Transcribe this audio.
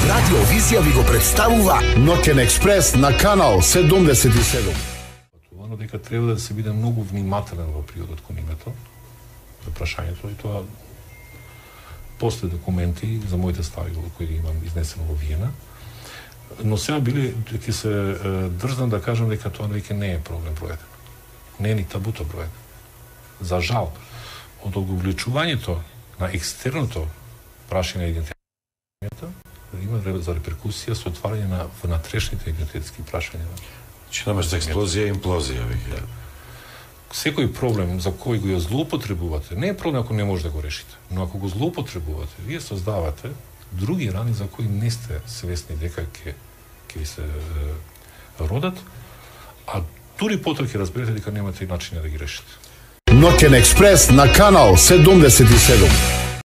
Радио Визија ви го представува Ноќен експрес на канал 77. Оно дека треба да се биде многу внимателен во периодот кон името, за прашањето, и тоа после документи за моите стави кои ги имам изнесено во Виена. Но сега биле, ќе се дрзнам да кажам дека тоа веќе не е проблем бројден. Не е ни табуто бројден. За жал, од оговлечувањето на екстерното прашање на идентитетот има за реперкусија со отварање на внатрешните идентитетски прашања. Че немаш за експлозија и имплозија веќе. Секој проблем за кој го ја злоупотребувате, не е проблем ако не може да го решите, но ако го злоупотребувате, вие создавате други рани за кои не сте свесни дека ќе ви се родат, а дури потоа ќе разберете дека немате и начини да ги решите. Ноќен експрес на канал 77.